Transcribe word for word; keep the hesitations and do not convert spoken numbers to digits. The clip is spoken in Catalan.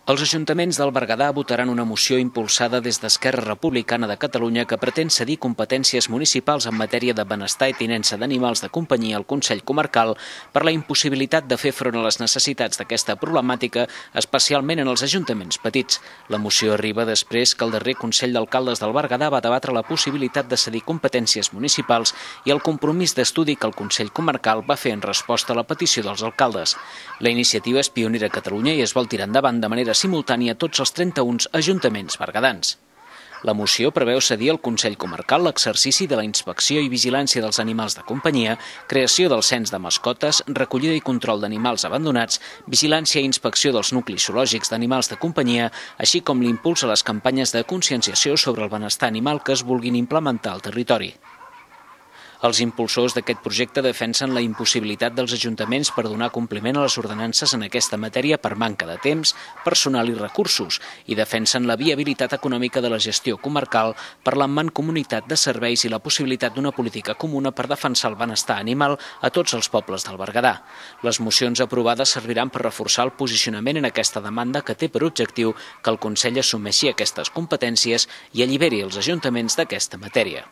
Els ajuntaments del Berguedà votaran una moció impulsada des d'Esquerra Republicana de Catalunya que pretén cedir competències municipals en matèria de benestar i tinença d'animals de companyia al Consell Comarcal per la impossibilitat de fer front a les necessitats d'aquesta problemàtica, especialment en els ajuntaments petits. La moció arriba després que el darrer Consell d'Alcaldes del Berguedà va debatre la possibilitat de cedir competències municipals i el compromís d'estudi que el Consell Comarcal va fer en resposta a la petició dels alcaldes. La iniciativa és pionera a Catalunya i es vol tirar endavant de manera simultània a tots els trenta-un ajuntaments berguedans. La moció preveu cedir al Consell Comarcal l'exercici de la inspecció i vigilància dels animals de companyia, creació del cens de mascotes, recollida i control d'animals abandonats, vigilància i inspecció dels nuclis zoològics d'animals de companyia, així com l'impuls a les campanyes de conscienciació sobre el benestar animal que es vulguin implementar al territori. Els impulsors d'aquest projecte defensen la impossibilitat dels ajuntaments per donar compliment a les ordenances en aquesta matèria per manca de temps, personal i recursos i defensen la viabilitat econòmica de la gestió comarcal per la mancomunitat de serveis i la possibilitat d'una política comuna per defensar el benestar animal a tots els pobles del Berguedà. Les mocions aprovades serviran per reforçar el posicionament en aquesta demanda que té per objectiu que el Consell assumeixi aquestes competències i alliberi els ajuntaments d'aquesta matèria.